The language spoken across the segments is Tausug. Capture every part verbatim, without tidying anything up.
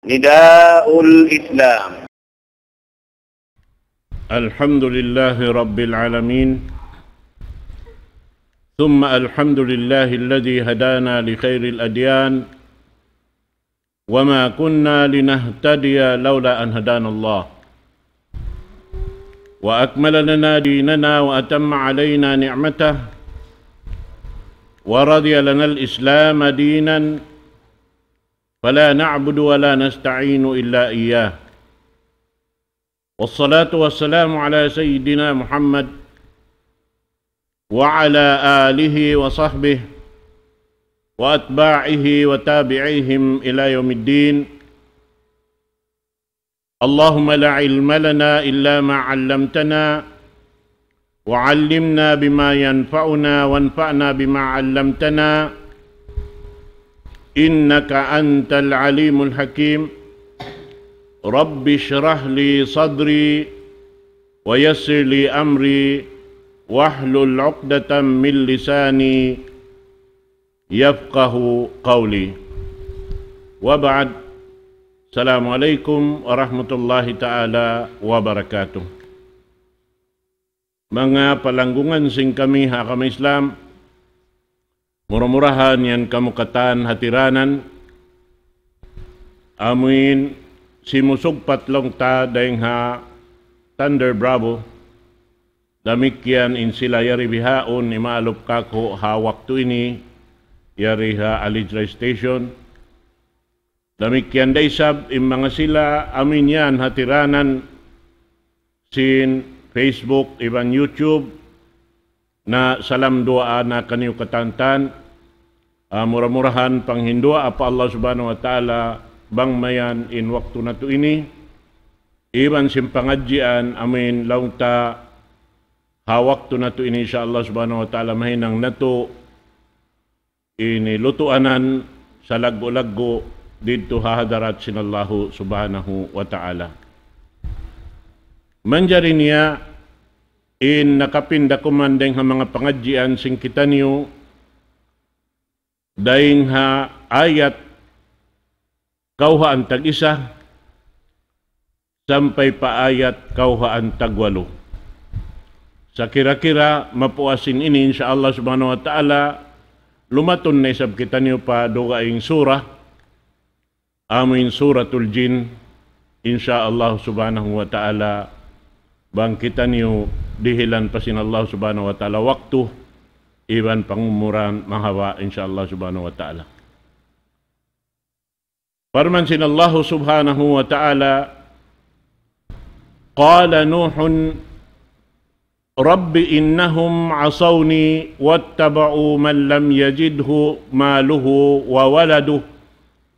نداء الإسلام. الحمد لله رب العالمين، ثم الحمد لله الذي هدانا لخير الأديان، وما كنا لنهتدي لولا أن هدانا الله، وأكمل لنا ديننا وأتم علينا نعمته، ورضي لنا الإسلام دينا، فلا نعبد ولا نستعين إلا إياه. والصلاة والسلام على سيدنا محمد وعلى آله وصحبه وأتباعه وتابعيهم إلى يوم الدين. اللهم لا علم لنا إلا ما علمتنا، وعلمنا بما ينفعنا، وانفعنا بما علمتنا، إنك أنت العليم الحكيم. رب اشرح لي صدري، ويسر لي أمري، واحلل عقدة من لساني، يفقه قولي. وبعد. السلام عليكم ورحمة الله تعالى وبركاته. Manga palanggungan sin kami ha agama Islam, mura-murahan yan kamu katan hatiranan, amuin simusugpat laung ta dayn ha Thunder Bravo, damikkiyan in sila yari bihaun imaalup kaku' ha waktu ini, yari ha Alijra Station. Damikkiyan da isab in manga sila amuin yan hatiranan sin Facebook iban YouTube, na salam duwaa na kaniyu katantan. Ah, mura-murahan panghinduwaa pa Allah Subhanahu wa Ta'ala bang mayan in waktu natu' ini, iban sin pangadjian amuin laung ta ha waktu natu' ini, insya Allah Subhanahu wa Ta'ala, mahinang natu' ini lutuanan salaggu'-laggu' didtu ha hadarat sin Allahu Subhanahu wa Ta'ala. Manjari niya in nakapinda kuman dayn ha manga pangadjian sin kitaniyu dayn ha ayat kawhaan tag-isa sampay pa ayat kawhaan tagwalu. Sakira-kira mapuas in ini, insya Allah Subhanahu wa Ta'ala, lumatun na isab kitaniyu pa dugaing surah, amuin Suratul Jin, insya Allah Subhanahu wa Ta'ala, bang kitaniyu dihilan pa sin Allah Subhanahu wa Ta'ala waktu iban pangumuran mahaba', insya Allah Subhanahu wa Ta'ala. Parman sin Allahu Subhanahu wa Ta'ala, قال نوح رب إنهم عصوني واتبعوا من لم يزده ماله وولده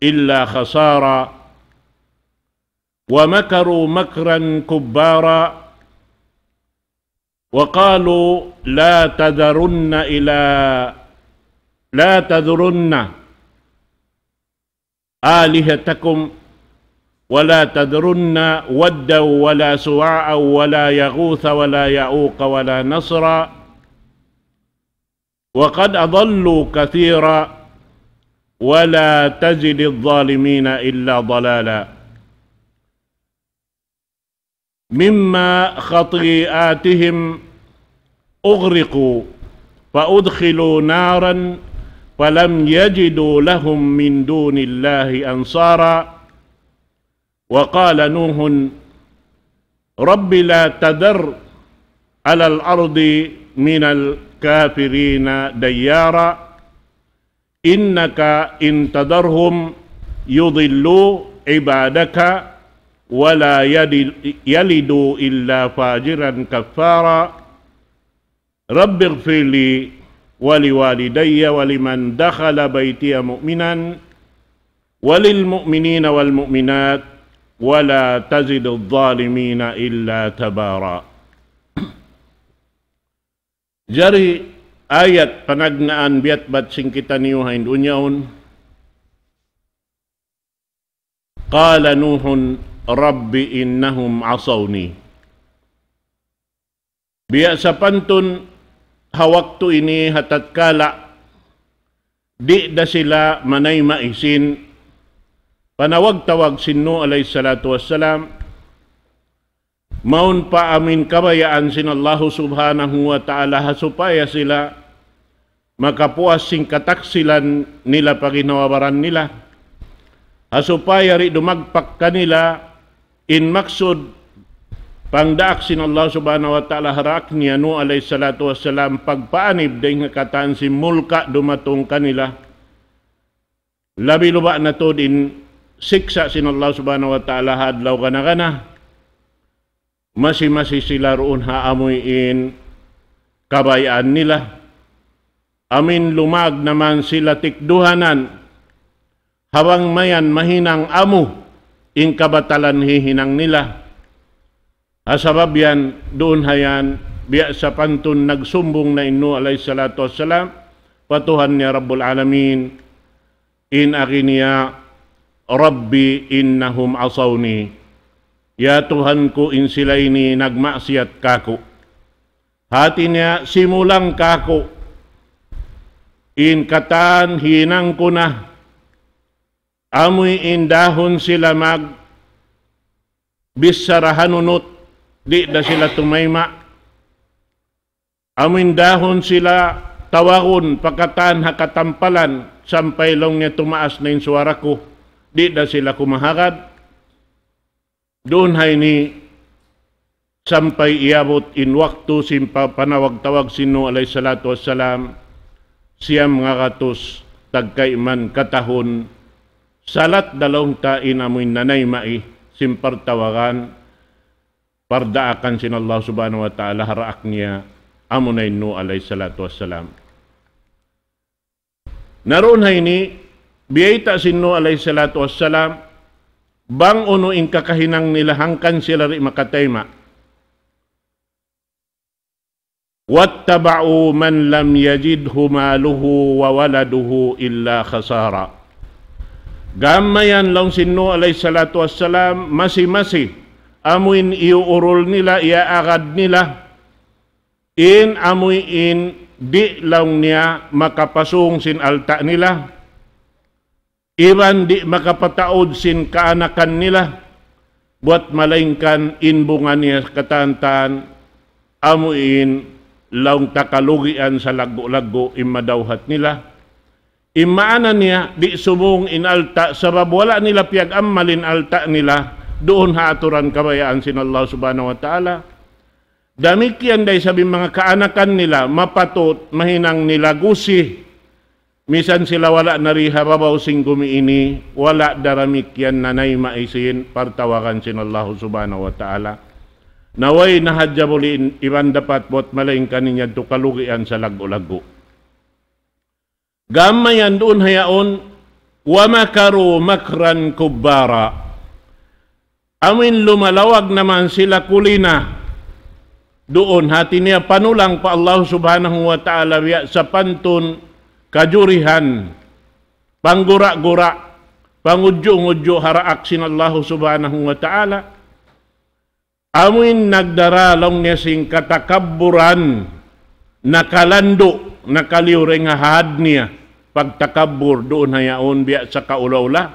إلا خسارا ومكروا مكرا كبارا وقالوا لا تذرن إلى لا تذرن آلهتكم ولا تذرن ودا ولا سواعا ولا يغوث ولا يعوق ولا نسرا وقد أضلوا كثيرا ولا تزد الظالمين إلا ضلالا. مما خطيئاتهم أغرقوا فأدخلوا نارا فلم يجدوا لهم من دون الله أنصارا. وقال نوح رب لا تذر على الأرض من الكافرين ديارا إنك إن تذرهم يضلوا عبادك ولا يد- يلدوا إلا فاجرا كفارا. رب اغفر لي ولوالدي ولمن دخل بيتي مؤمنا وللمؤمنين والمؤمنات ولا تزد الظالمين إلا تبارا. Jari ayat panagnaan biyatbat sin kitaniyu ha in dunya yaun. قال نوح رب إنهم عصوني. Biya' sapantun ha waktu ini ha tatkala di' da sila manayma' isin, panawag-tawag sin Nuh alayhi salatu wassalam, mawn pa amin kabayaan sin Allahu subhanahu wa ta'ala ha supaya sila makapuas sin kataksilan nila pa ginhawa-baran nila. Ha supaya di' dumagpak kanila in maksud pangdaak sin Allah subhanahu wa ta'ala ha daak niya Nuh alayhi salatu wassalam pagpaanib dayn ha katan sin mulka' dumatung kanila. Labi-labi na tuud in siksa' sin Allah subhanahu wa ta'ala ha adlaw gana-gana. Masi-masi sila duun ha amuin kabayaan nila. Amuin lumag naman sila tikduhanan. Ha bang mayan mahinang amu in kabatalan hihinang nila. Ha sabab yan, duun ha yan, biya' sapantun nagsumbung na in Nuh alayhi salatu wassalam, pa Tuhan niya Rabbul Alamin, in agi niya, رب إنهم عصوني. Ya Tuhan ku, in sila ini nagmaksiyat kāku'. Hāti niya, simulang kāku'. In katan hinang ku na, amuin dahun sila magbichara hanunut, di' da sila tumayma'. Amuin dahun sila tawagun pa katan ha katampalan, sampay laung niya tumaas na in suwara ku, di' da sila kumahagad. Duun ha ini sampay iyabut in waktu sin pa-, panawag-tawag sin Nuh alayhi salatu wassalam, siyam ngagatus tagkayman katahun, salat da laung ta in amuin nanayma'i sin partawagan, pardaakan sin Allah subhanahu wa ta'ala ha daak niya, amuna in Nuh alayhi salatu wassalam. Na duun ha ini, biyayta' sin Nuh alayhi salatu wassalam, bang unu in kakahinang nila hangkan sila di' makatayma'. واتبعوا من لم يزده ماله وولده إلا خسارا. Gam mayan laung sin Nuh alayhi salatu wassalam, masi-masi, amuin iyuurul nila, iyaagad nila, in amuin di' laung niya makapasung sin alta' nila, iban di' makapataud sin kaanakan nila, buwat malaingkan in bunga niya katantan, amuin laung ta kalugian salaggu'-laggu' in madawhat nila. In maana niya, di' sumung in alta', sabab wala' nila piyag-ammal in alta' nila, duun ha aturan kabayaan sin Allah subhanahu wa ta'ala. Damikkiyan da isab in manga kaanakan nila, mapatut, mahinang nila gusi. Misan sila wala' na di ha babaw sin gumi ini, wala' da damikkiyan nanayma'i sin partawagan sin Allah subhanahu wa ta'ala. Na way na hadja buliin, iban dapat buwat malaingkan in yadtu kalugian salaggu'-laggu'. Gam mayan duun ha yaun, ومكروا مكرا كبارا. Amuin lumalawag naman sila kulina. Duun hāti niya panulang pa Allah subhanahu wa ta'ala biya' sapantun kajurihan, panggura-gura, pangudju'-ngudju' ha daak sin Allah subhanahu wa ta'ala. Amuin nagdara laung niya sin katakabburan, nakalandu', nakaliyu dayn ha had niya, pagtakabbur duun ha yaun biya' sa kaula-ula,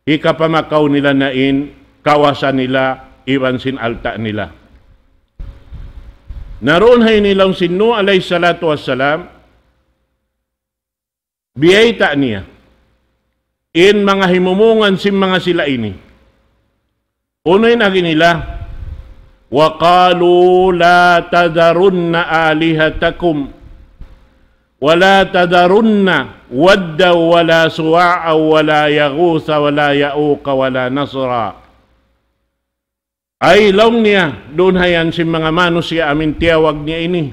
hikapamakaw nila na in kawasa nila, iban sin alta' nila. Na duun ha ini laung sin Nuh alayhi salatu wassalam, biyayta' niya in manga himumungan sin manga sila ini. Unu in agi nila? وقالوا لا تذرن آلهتكم ولا تذرن ودا ولا سواعا ولا يغوث ولا يعوق ولا نسرا. Ay laung niya, duun ha yan sin manga manusiya' amuin tiyawag niya ini.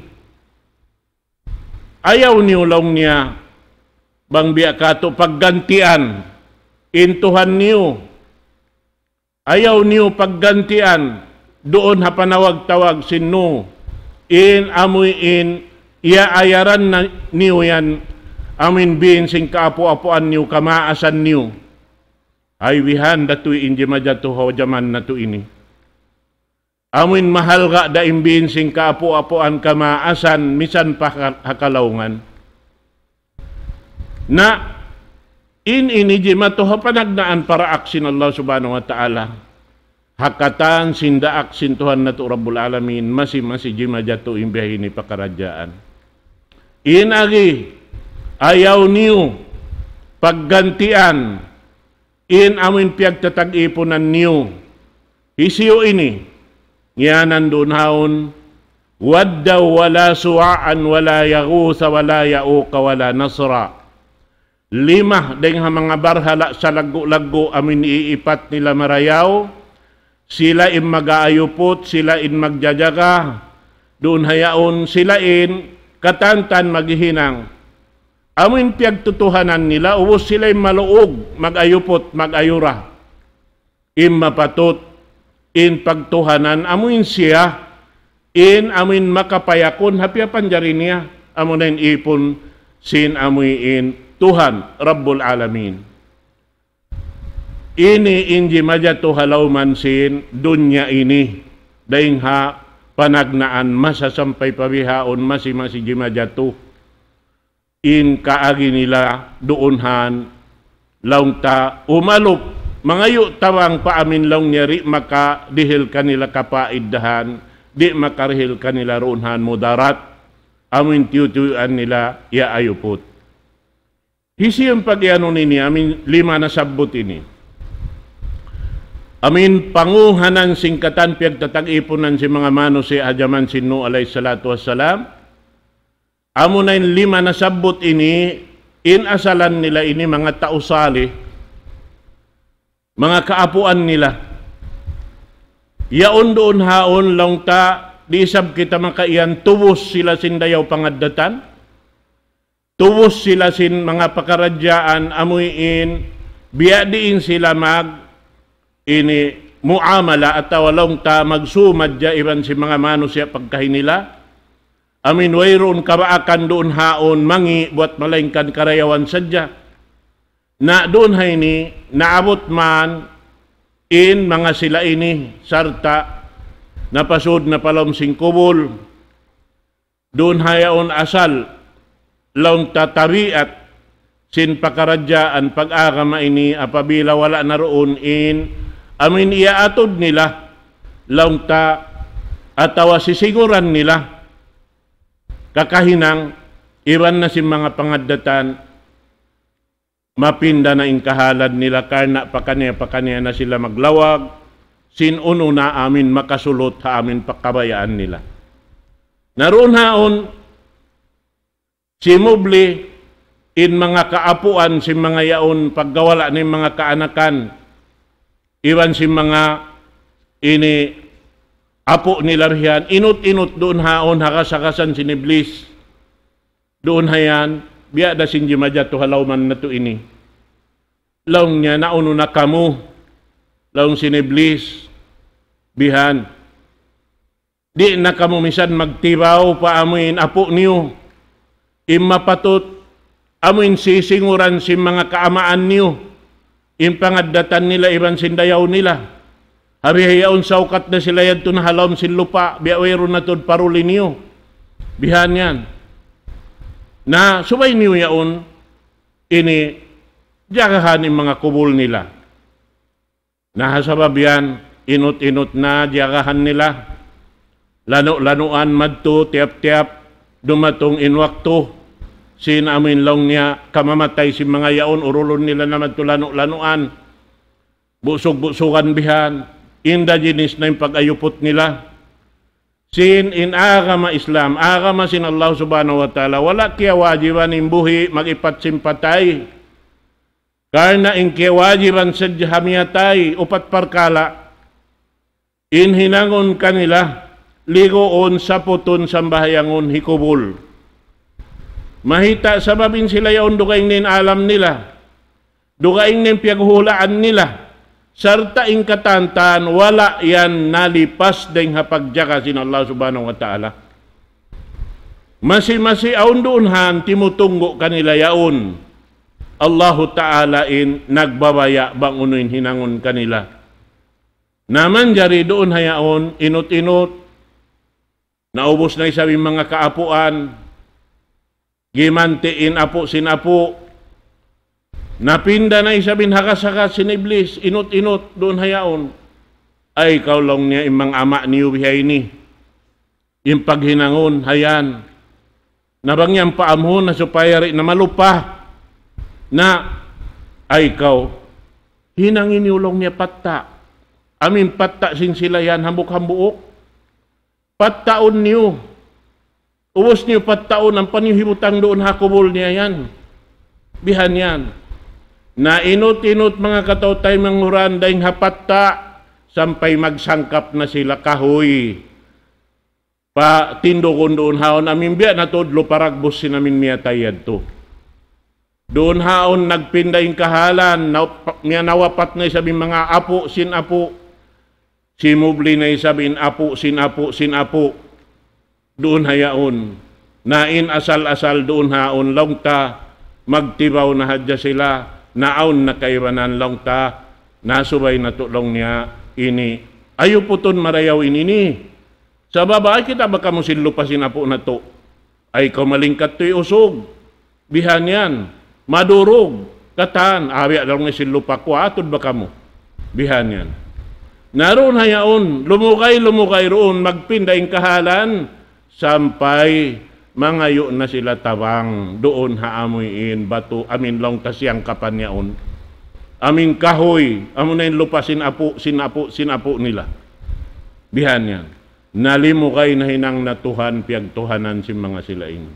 Ayaw niyu laung niya, bang biya' katu' paggantian in Tuhan niyu. Ayaw niyu paggantian duun ha panawag-tawag sin Nuh. In amuin iyaayaran na niyu yan, amuin biin sin kaapu'-apuan niyu, kamaasan niyu. Ay bihan da tuud in jimajatu ha jaman natu' ini. Amuin mahalga' da in biin sin kaapu'-apuan, kamaasan, misan pa ha-, ha kalaungan. Na, In ini jimatu ha panagnaan paraak sin Allah Subhanahu wa Ta'ala. Ha katan sin daak sin Tuhan natu' Rabbul Alamin, masi-masi jimajatu in biya' ini pakaradjaan. In agi, ayaw niyu paggantian in amuin piyagtatag-ipunan niyu. Hisiyu ini? Ngiyanan duun haun, wadda wala suwa'an wala yaghutha wala ya'uqa wala nasra. Lima dayn ha manga barhala' salaggu'-laggu' amuin iipat nila marayaw, sila in mag-aayuput, sila in magjajaga, duun hayaun sila in katantan maghihinang. Amuin piyagtutuhanan nila, ubus sila in maluug, mag-ayuput, mag-ayura. In mapatut, in pagtuhanan, amuin siya, in amuin makapayakun, ha piyapanjari niya, amuna in ipun, sin amuin Tuhan, Rabbul Alamin. Ini in jimajatu ha lawman sin dunya ini, dayn ha panagnaan masa sampay pa bihaun masi-masi jimajatu. In kaagi nila duun han, laung ta umalup, mangayu' tabang pa amin laung niya di' makadihil kanila kapaiddahan, di' makarihil kanila duun han mudarat, amin tiyutuyuan nila ya ayuput. Hisiyu in pag-iyanun ini, amin lima nasabbut ini. Amin panguhanan sin katan piyagtatag-ipunan sin manga manusiya' ha jaman sin Nuh alayhi salatu wassalam. Amuna in lima nasabbut ini, in asalan nila ini manga tau salih, manga kaapuan nila. Yaun duun haun laung ta, di' isab kita makaiyan tubus sila sin dayaw pangaddatan. Tubus sila sin manga pakaradjaan amuin, biya' diin sila mag, ini, muamala atawa laung ta magsumadja iban sin manga manusiya' pagkahi nila. Amin wayruun kabaakan duun haun mangi' buwat malaingkan karayawan sadja. Na duun ha ini, naabut man in manga sila ini, sarta' napasud na pa lawm sin kubul. Duun hayaun asal, laung ta tabiat, sin pakaradjaan pag-agama ini apabila wala' na duun in, amin iyaatud nila, laung ta, atawa sisiguran nila, kakahinang, iban na sin manga pangaddatan, mapinda na in kahalad nila karna' pakaniya-pakaniya na sila maglawag, sin unu na amin makasulut ha amin pakabayaan nila. Na duun haun, simubli in manga kaapuan sin manga yaun paggawala' na in manga kaanakan, iban sin manga ini apu' nila bihan, inut-inut duun haun ha kas-kasan sin Iblis. Duun hayan, biya' da sin jimajatu ha lawman natu' ini. Laung niya, naunu na kamu, laung sin Iblis, bihan. Di' na kamu misan magtibaw pa amuin apu' niyu. In mapatut, amuin sisinguran sin manga kaamaan niyu. In pangaddatan nila iban sin dayaw nila. Ha bihaun sawkat na sila yadtu na ha lawm sin lupa', biya' wayruun na tuud paruli niyu. Bihan yan. Na subay niyu yaun, ini, jagahan in manga kubul nila. Na ha sabab yan, inut-inut na jagahan nila. Lanu'-lanuan madtu, tiyap-tiyap, dumatung in waktu, sin amuin laung niya, kamamatay sin manga yaun, urulun nila na madtu lanu'-lanuan. Busug-busugan bihan, inda jinis na in pag-ayuput nila. Sin in agama Islam, agama sin Allah Subhanahu wa Ta'ala, wala' kiyawajiban in buhi' mag-ipat sin patay. Karna' in kiyawajiban sadja ha miyatay, upat parkala'. In hinangun kanila, liguun, saputun, sambahayangun, hikubul. Mahita' sabab in sila yaun dugaing na in alam nila. Dugaing na in piyaghuhulaan nila. Sarta' in katantan, wala' yan nalipas dayng ha pagjaga sin Allah Subhanahu wa Ta'ala. Masi-masi awn duun han timutunggu' kanila yaun. Allahu Ta'ala in nagbabaya' bang unu in hinangun kanila. Na manjari duun ha yaun, inut-inut, naubus na isab in manga kaapuan, gimanti' in apu' sin apu', Napinda na isab in hagas-hagas sin Iblis, inut-inut duun ha yaun. Ay, kaw laung niya, in manga ama' niyu bihaini. In paghinangun, ha yan. Na bang yan paamhun na supaya di' na malupa. Na, ay kaw, hinangi niyu laung niya patta'. Amu in patta' sin sila yan, hambuuk-hambuuk. Pattaun niyu. Ubus niyu pattaun, ampa niyu hibutang duun ha kubul niya yan. Bihan yan. Na inut-inut manga kataw-taymanghuran dayn ha patta', sampay magsangkap na sila kahuy. Patindugun duun ha yaun amin biya' na tuud lupa ragbus sin amin miyatay yadtu. Duun ha yaun nagpinda in kahalan, na, miya nawapat na isab in manga apu' sin apu', simubli na isab in apu' sin apu' sin apu'. Duun ha yaun. Na in asal-asal duun ha yaun laung ta, magtibaw na hadja sila, na awn na kaibanan laung ta, na subay natu' laung niya ini. Ayuputun marayaw in ini. Sabab, ay kita' ba kamu sin lupa sin apu' natu'. Ay kaw malingkat tuy usug. Bihan yan. Madurug. Katan, awi' laung niya sin lupa ku, atud ba kamu. Bihan yan. Na duun ha yaun, lumugay-lumugay duun, magpinda in kahalan, sampay mangayu' na sila tabang, duun ha amuin batu, amin laung ta siyangkapan yaun. Amin kahuy, amu na in lupa sin apu', sin apu', sin apu' nila. Bihan yan. Nalimugay na hinang na Tuhan, piyagtuhanan sin manga sila ini.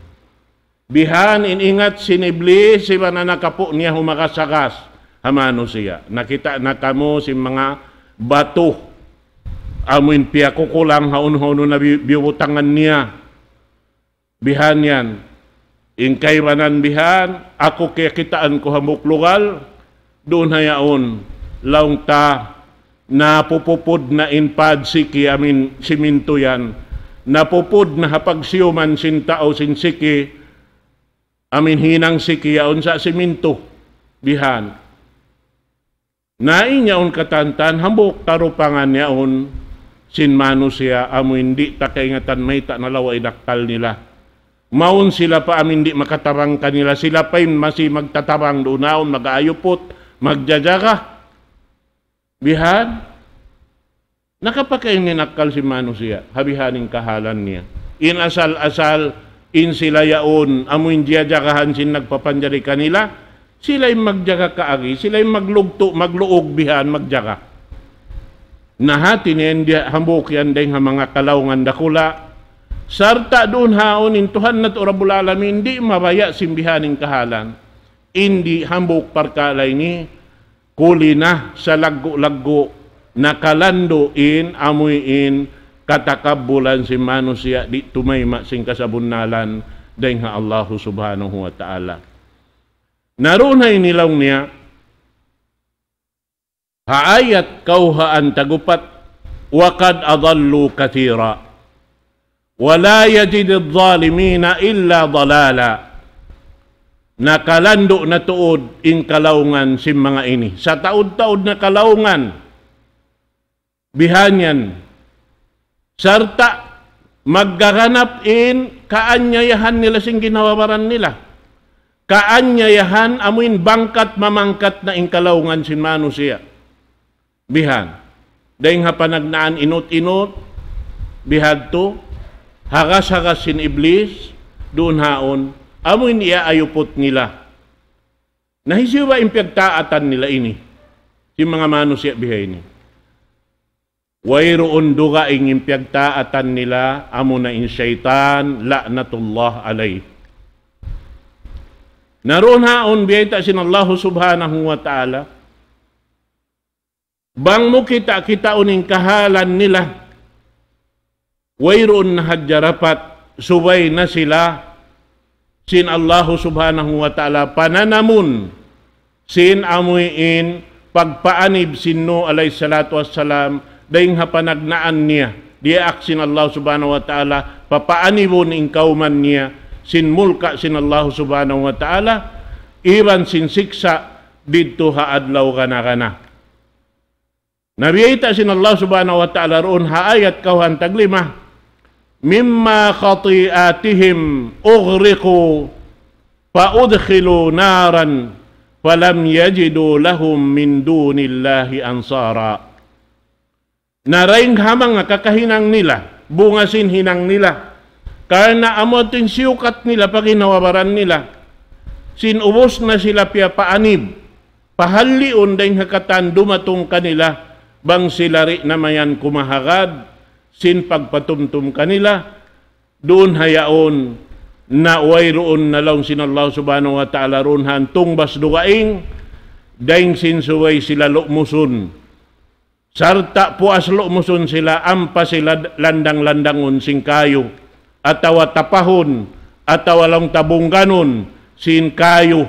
Bihan in ingat sin Iblis, iban anak apu' niya humagas-hagas ha manusiya'. Nakita' na kamu sin manga batu. Amu in piyakukulang ha unu-unu na bi-, biyubutangan niya. Bihan yan. In kaibanan bihan, aku kiyakitaan ku hambuuk lugal, duun ha yaun, laung ta, napupupud na in pad siki amin simintu yan. Napupud na ha pagsiyuman sin tau sin siki, amin hinang siki yaun sa' simintu. Bihan. Na in yaun katantan, hambuuk tarupangan yaun sin manusiya' amu in di' ta kaingatan mayta' na lawa in akkal nila. Mawn sila pa amin di' makatabang kanila, sila pa in masi magtatabang duun ha yaun, mag-aayuput, magjajaga. Bihan, nakapakain in akkal sin manusiya', ha bihan in kahalan niya. In asal-asal, in sila yaun, amu in jiyajagahan sin nagpapanjari kanila, sila in magjaga kaagi, sila in maglugtu', magluug bihan, magjaga. Na hati niya in diya hambuuk yan dayng ha manga kalaungan dakula'. Sarta' duun ha yaun in Tuhan natu' Rabbul Alamin, di' mabaya' sin bihan in kahalan. In di' hambuuk parkala' ini, kuli na salaggu'-laggu', nakalandu' in, amuin, katakabbulan sin manusiya' di' tumayma' sin kasabunnalan dayng ha Allahu Subhanahu wa Ta'ala. Na duun ha ini laung niya, ha ayat kawhaan tagupat, وقد أضلوا كثيرا ولا يزيد الظالمين إلا ضلالا. Nakalandu' na tuud in kalaungan sin manga ini. Sataud-taud na kalaungan. Bihan yan. Sarta' maggaganap in kaanyayahan nila sin ginhawa-baran nila. Kaanyayahan amuin bangkat mamangkat na in kalaungan sin manusiya'. Bihan. Dayng ha panagnaan inut-inut, bihadtu, hagas-hagas sin Iblis, duun ha yaun, amuin iyaayuput nila. Na hisiyu ba in piyagtaatan nila ini? Sin manga manusiya' bihaini. Wayruun dugaing in piyagtaatan nila, amuna in saytan, لعنة الله عليه. Na duun ha yaun biyayta' sin Allahu Subhanahu wa Ta'ala, bang mu kita'-kitaun in kahalan nila, wayruun na hadja dapat, subay na sila sin Allahu Subhanahu wa Ta'ala pananamun sin amuin pagpaanib sin Nuh alayhi salatu wassalam, dayng ha panagnaan niya, diyaak sin Allah Subhanahu wa Ta'ala, papaanibun in kawman niya, sin mulka' sin Allah Subhanahu wa Ta'ala, iban sin siksa' didtu ha adlaw gana-gana. Na biyayta' sin Allah Subhanahu wa Ta'ala duun ha ayat kawhaan taglima, مما خطيئاتهم أغرقوا فأدخلوا نارا فلم يجدوا لهم من دون الله أنصارا. Na dayn ha manga kakahinang nila, bunga sin hinang nila. Karna' amu tuud in siyukat nila pa ginhawa-baran nila. Sin ubus na sila piyapaanib, pahaliun dayn ha katan dumatung kanila, bang sila di' na mayan kumahagad, sin pagpatumtum kanila, duun ha yaun, na wayruun na laung sin Allah Subhanahu wa Ta'ala duun ha tungbas dugaing, dayn sin subay sila lu'musun. Sarta' puas lu'musun sila, ampa sila landang-landangun sin kayu, atawa tapahun, atawa laung ta bungganun sin kayu.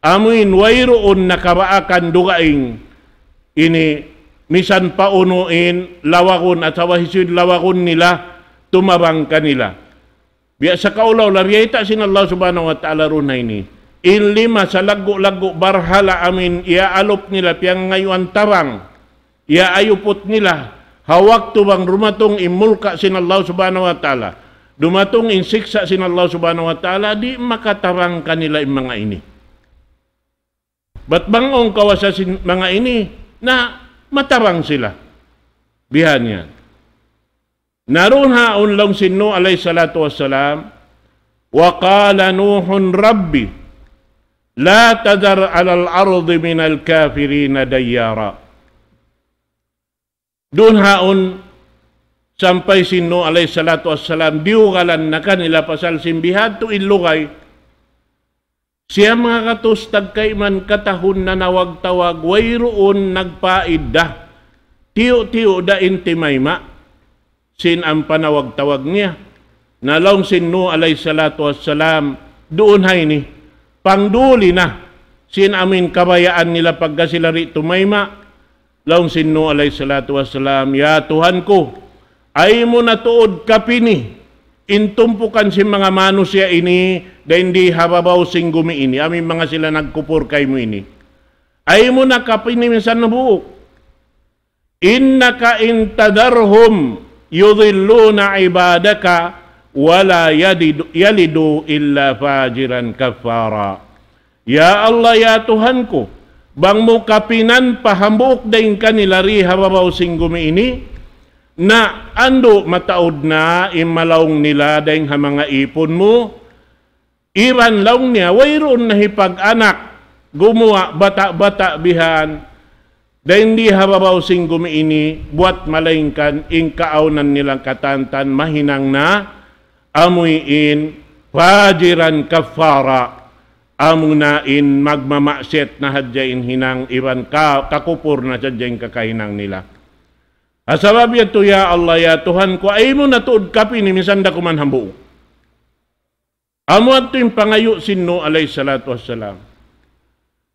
Amuin wayruun na kabaakan dugaing ini, misan pa unu in lawagun atawa hisiyu in lawagun nila tumabang kanila. Biya' sa kaulaw la biyayta' sin Allah Subhanahu wa Ta'ala duun ha ini. In lima salaggu'-laggu' barhala amuin iyaalup nila piyangayuan tabang, iyaayuput nila, ha waktu bang dumatung in mulka' sin Allah Subhanahu wa Ta'ala, dumatung in siksa' sin Allah Subhanahu wa Ta'ala, di' makatabang kanila in manga ini. Bat bang awn kawasa sin manga ini, na matabang sila. Bihan yan. Na duun ha yaun laung sin Nuh alayhi salatu wassalam, وقال نوح رب لا تذر على الأرض من الكافرين ديارا. Duun ha yaun sampay sin Nuh alayhi salatu wassalam, diyugalan na kanila pasal sin bihadtu in lugay. Siya manga katus tagkaiman katahun nanawag-tawag, wayruun nagpaidda. Tiyu'-tiyu' da in timayma'. Sin ampa nawag-tawag niya. Na laung sin Nuh alayhi salatu wassalam, duun ha ini, pangduli na. Sin amuin kabayaan nila pagka sila di' tumayma'. Laung sin Nuh alayhi salatu wassalam, "Ya Tuhan ku, ay mu na tuud kapini in tumpukan sin manga manusiya' ini, dayn di ha babaw sin gumi ini, amuin manga sila nagkupur kaymu ini. Ay mu na kapini misan hambuuk. إنك إن تذرهم يضلوا عبادك ولا يلد-، يلدوا إلا فاجرا كفارا." Ya Allah, ya Tuhan ku, bang mu kapinan pa hambuuk dayn kanila di ha babaw sin gumi ini, na andu' mataud na in malaung nila dayn ha manga ipun mu, iban laung niya, wayruun na hipag-anak, gumuwa' bata'-bata' bihan, dayn di ha babaw sin gumi ini, buwat malaingkan in kaawnan nila katantan mahinang na, amuin fajiran kaffara, amuna in magmamaksiyat na hadja in hinang iban ka-, kakupur na hadja in kakahinang nila. Ha sabab yadtu, ya Allah, ya Tuhan ku, ay mu na tuud kapini misan da kuman hambuuk. Amu yadtu in pangayu' sin Nuh alayhi salatu wassalam.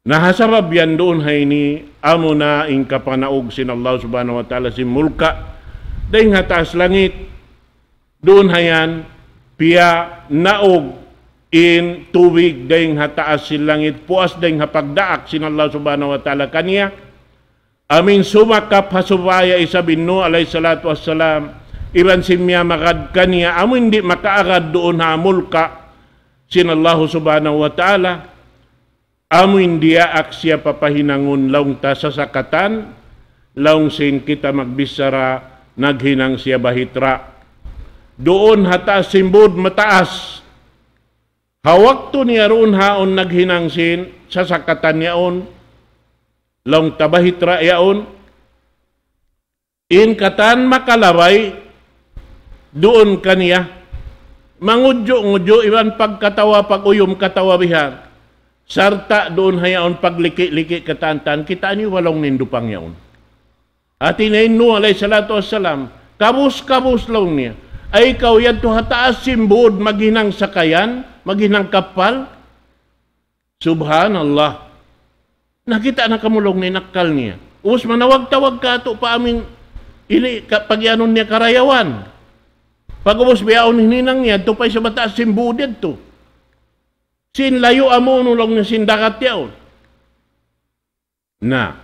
Na ha sabab yan duun ha ini, amuna in kapanaug sin Allah Subhanahu wa Ta'ala sin mulka' dayn ha taas langit. Duun ha yan, piyanaug in tubig dayn ha taas sin langit, puas dayn ha pagdaak sin Allah Subhanahu wa Ta'ala kaniya. Amuin sumakap ha supaya isab in Nuh alayhi salatu wassalam, iban sin miyamagad kaniya, amuin di' makaagad duun ha mulka' sin Allah Subhanahu wa Ta'ala. Amuin diyaak siya papahinangun laung ta sasakatan, laung sin kita magbichara, naghinang siya bahitra. Duun ha taas sin būd mataas. Ha waktu niya duun ha yaun naghinang sin sasakatan yaun, laung ta bahitra yaun, in katan makalabay duun kaniya, mangudju'-ngudju' iban pagkatawa, pag-uyum katawa bihan. Sarta' duun ha yaun pagliki'-liki' katantan, kitaa niyu ba laung niya in dupang yaun. Hāti niya in Nuh alayhi salatu wassalam, kabus-kabus laung niya. Ay kaw yadtu ha taas sin būd maghinang sakayan, maghinang kappal. Subhanallah. Nakita' na kamu laung niya in akkal niya. Ubus manawag-tawag kātu' pa amuin ini ka-, pagiyanun niya karayawan. Pag'ubus bihaun in hinang niya, yadtu pa isab ha taas sin būd yadtu. Sin layu' amu unu laung niya sin dagat yaun. Na,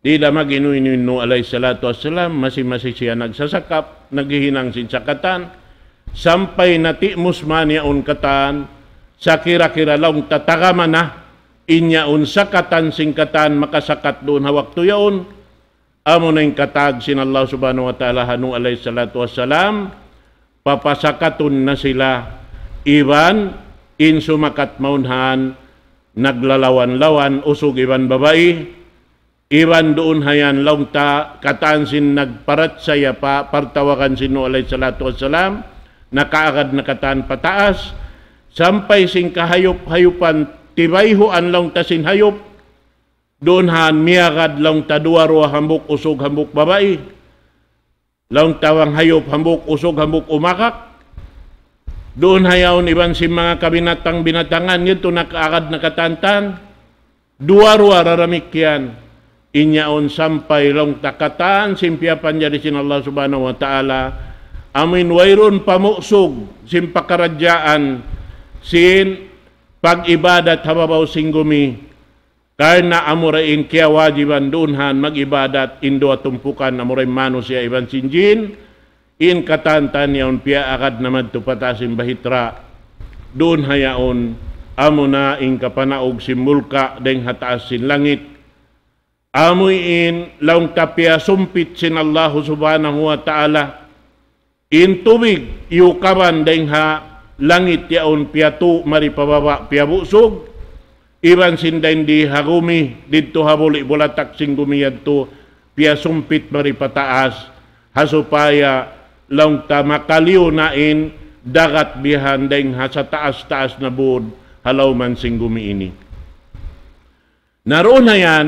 di' da mag-inu-inu in Nuh alayhi salatu wassalam, masi-masi siya nagsasakap, naghihinang sin sakatan, sampay natimus man yaun katan, sakira-kira laung ta tagama na, in yaun sakatan sin katan makasakat duun ha waktu yaun, amuna in kataag sin Allah Subhanahu wa Ta'ala ha Nuh alayhi salatu wassalam, papasakatun na sila, iban in sumakat mawn han, naglalawan-lawan, usug iban babai, iban duun ha yan laung ta katan sin nagparachaya pa partawagan sin Nuh alayhi salatu wassalam, nakaagad na katan pataas, sampay sin kahayup-hayupan tibayhuan laung ta sin hayup, duun han miyagad laung ta duwa-ruwa hambuuk usug hambuuk babai. Laung ta bang hayup hambuuk usug hambuuk umakak. Duun ha yaun iban sin manga kabinatang-binatangan yadtu nakaagad na katan-katan. Duwa-ruwa damikkiyan. In yaun sampay laung ta katan sin piyapanjari sin Allah Subhanahu wa Ta'ala. Amuin wayruun pamusug sin pakaradjaan sin pag-ibadat ha babaw sin gumi. Karna' amura in kiyawajiban duun han mag-ibadat in duwa tumpukan, amura in manusiya' iban sin jin, in katan-katan yaun piyaagad na madtu pataas sin bahitra'. Duun ha yaun, amuna in kapanaug sin mulka' dayng ha taas sin langit. Amuin laung ta piyasumpit sin Allahu Subhanahu wa Ta'ala. In tubig, iyukaban dayng ha langit yaun piyatu' mari pa baba' piyabusug, iban sin dayng di ha gumi, didtu ha buli' bulatak sin gumi yadtu, piyasumpit mari pataas, ha supaya laung ta makaliyu na in dagat bihan dayng ha sataas-taas na bud, ha lawman sin gumi ini. Na duun ha yan,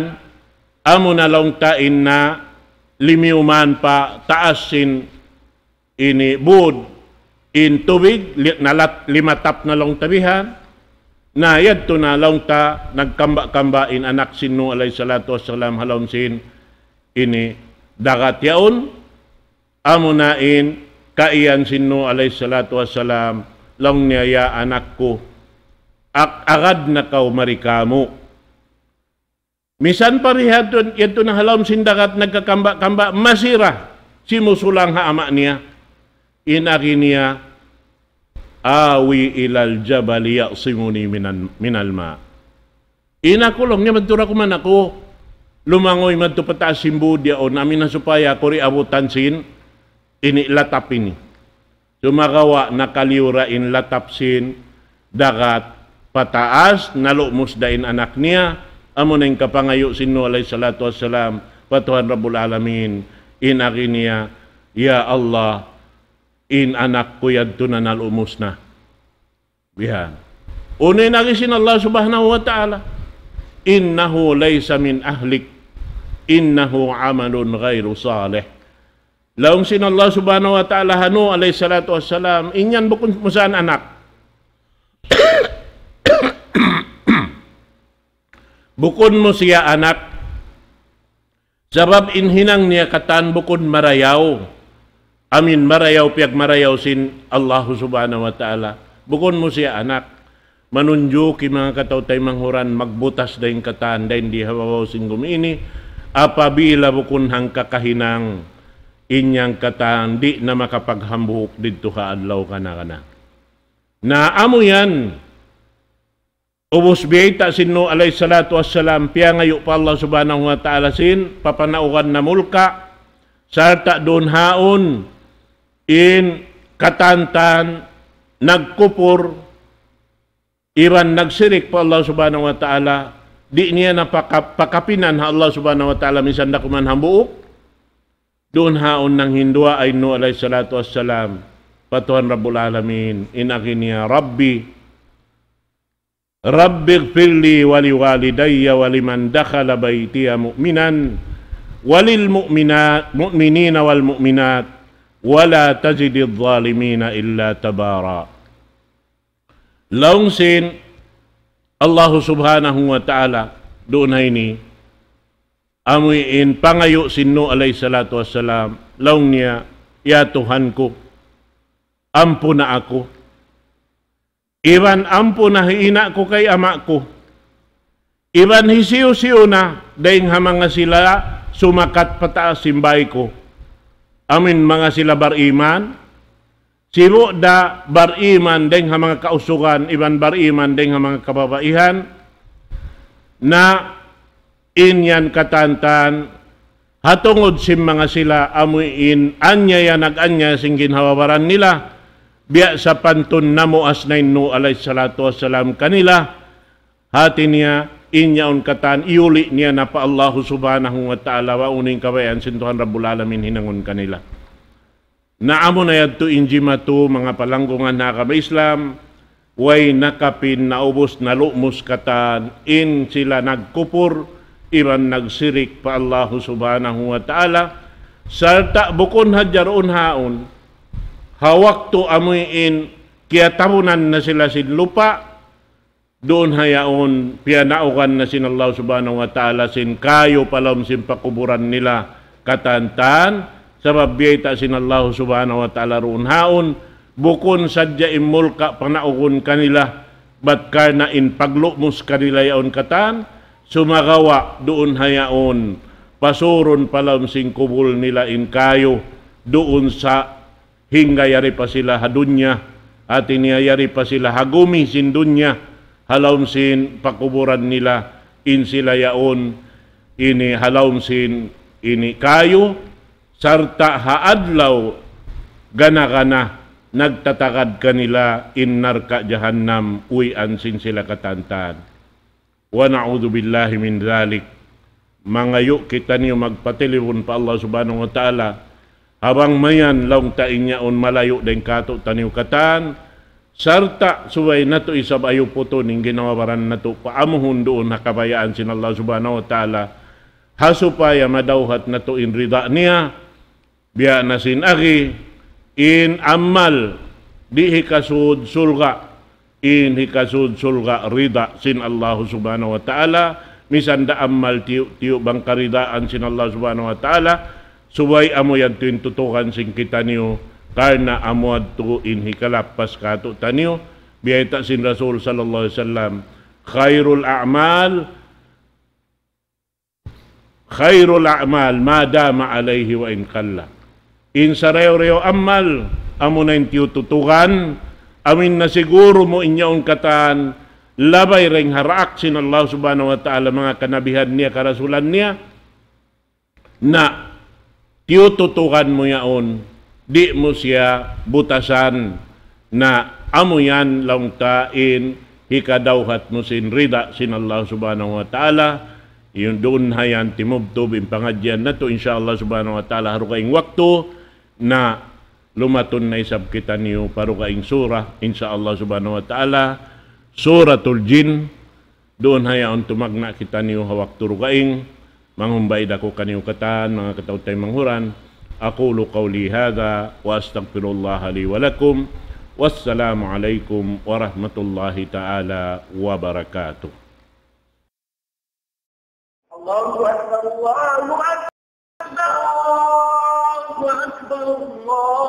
amuna laung ta in na limiyuman pa taas sin ini bud in tubig, li-, nalat-, limatap na laung ta bihan. Na yadtu na laung ta nagkamba'-kamba' in anak sin Nuh alayhi salatu wassalam ha lawm sin ini dagat yaun. Amuna in kaiyan sin Nuh alayhi salatu wassalam, laung niya, "Ya anak ku, ag-, agad na kaw mari kāmu'." Misan pa biya' yadtu, yadtu na ha lawm sin dagat nagkakamba'-kamba', masi ra simusulang ha ama' niya. In agi niya, "آوي إلى الجبل يعصمني من ال-، من الماء." In aku laung niya, madtu ra kuman aku lumanguy madtu pataas sin bud yaun, amuin supaya aku di' abutan sin ini latap ini. Sumagawa' nakaliyu ra in latap sin dagat pataas, nalumus da in anak niya, amuna in kapangayu' sin Nuh alayhi salatu wassalam pa Tuhan Rabbul Alamin, in agi niya, "Ya Allah, in anak ku yadtu na nalumus na." Bihan. Unu in agi sin Allah Subhanahu wa Ta'ala, "إنه ليس من أهلك، إنه عمل غير صالح." Laung sin Allah Subhanahu wa Ta'ala ha Nuh alayhi salatu wassalam, "In yan bukun mu siya anak." Bukun mu siya anak. Sabab in hinang niya katan bukun marayaw. Amuin marayaw, piyagmarayaw sin Allahu Subhanahu wa Ta'ala. Bukun mu siya anak. Manunjuki manga kataw-taymanghuran magbutas dayng katan, dayng di ha babaw sin gumi ini. Apabila bukun hangka kahinang, in yan katan di' na makapaghambuuk didtu ha adlaw kana-kana. Na amu yan, ubus biyayta' sin Nuh alayhi salatu wassalam, piyangayu' pa Allah Subhanahu wa Ta'ala sin papanaugan na mulka', sarta' duun haun in katan-katan nagkupur iban nagsirik pa Allah Subhanahu wa Ta'ala, di' niya na paka-, pakapinan ha Allah Subhanahu wa Ta'ala misan da kuman hambuuk. Duun haun nanghinduwaa in Nuh alayhi salatu wassalam pa Tuhan Rabbul Alamin, in agi niya, "رب، رب اغفر لي ولوالدي ولمن دخل بيتي مؤمنا وللمؤمنا-، مؤمنين والمؤمنات ولا تزد الظالمين إلا تبارا." Laung sin Allahu Subhanahu wa Ta'ala duun ha ini, amu in pangayu' sin Nuh alayhi salatu wassalam, laung niya, "Ya Tuhan ku, ampuna aku. Iban ampuna hi ina' ku kay ama' ku. Iban hisiyu-siyu na dayng ha manga sila sumakat pataas sin bāy ku. Amu in manga sila bariman, sibu' da bariman dayng ha manga kausugan, iban bariman dayng ha manga kababaihan. Na in yan katantan, ha tungud sin manga sila amu in anyaya nag-anyaya sin ginhawa-baran nila, biya' sapantun namuas na in Nuh alayhi salatu wassalam kanila, hati niya, in yaun katan, iyuli' niya na pa Allahu subhanahu wa ta'ala, wa uning kabayaan sin Tuhan Rabbul Alamin hinangun kanila. Na amu na yadtu in jimatu, manga palanggungan ha agama Islam, way nakapin naubus nalumus katan, in sila nagkupur, iban nagsirik pa Allahu subhanahu wa ta'ala, sarta' bukun hadja duun haun, ha waktu amu in kiyatabunan na sila sin lupa', duun ha yaun, piyanaugan na sin Allah subhanahu wa ta'ala sin kayu pa lawm sin pakuburan nila katantan, sabab biyayta' sin Allah subhanahu wa ta'ala duun haun, bukun sadja in mulka' panaugun kanila, bat karna' in paglumus kanila yaun katan, sumagawa' duun ha yaun, pasurun pa lawm sin kubul nila in kayu, duun sa hingga yari pa sila ha dunya, hati niya yari pa sila ha gumi sin dunya, ha lawm sin pakuburan nila, in sila yaun, ini ha lawm sin, ini kayu, sarta' ha adlaw gana-gana, nagtatagad kanila in narka' jahannam, uwian sin sila katantan. ونعوذ بالله من ذلك. Mangayu' kitaniyu magpatilibun pa Allah subhanahu wa ta'ala. Ha bang mayan laung ta in yaun malayu' dayn kātu'niyu katan, sarta' subay natu' isab ayuputun in ginhawa-baran natu' paamuhun duun ha kabayaan sin Allah subhanahu wa ta'ala. Ha supaya madawhat natu' in rida niya, biya' na sin agi, in amal di' hikasud surga', in hikasud surga' rida sin Allahu subhanahu wa ta'ala, misan da amal tiyu'-tiyu' bang karidaan sin Allah subhanahu wa ta'ala, subay amu yadtu in tutukan sin kitaniyu, karna' amu yadtu in hikalappas kātu'niyu, biyayta' sin Rasul sallallahu alayhi wasallam, خير الأعمال خير الأعمال ما دام عليه وإن قل. In sarayaw-rayaw amal, amuna in tiyututukan, amu in nasiguru mu in yaun katan, labay dayn ha daak sin Allah subhanahu wa ta'ala, manga kanabihan niya, karasulan niya, na tiyututukan mu yaun, di' mu siya butasan, na amu yan laung ta in hikadawhat mu sin rida sin Allah subhanahu wa ta'ala. Yun duun ha yan timubtub in pangadjian natu', insya Allah subhanahu wa ta'ala, ha dugaing waktu na lumatun na isab kitaniyu pa dugaing surah, insya Allah subhanahu wa ta'ala, Suratul Jin. Duun ha yaun tumagna' kitaniyu ha waktu dugaing, manghumbay da aku kaniyu katan, manga kataw-taymanghuran. أقول قولي هذا وأستغفر الله لي ولكم. والسلام عليكم ورحمة الله تعالى وبركاته. الله أكبر، الله أكبر، الله أكبر، الله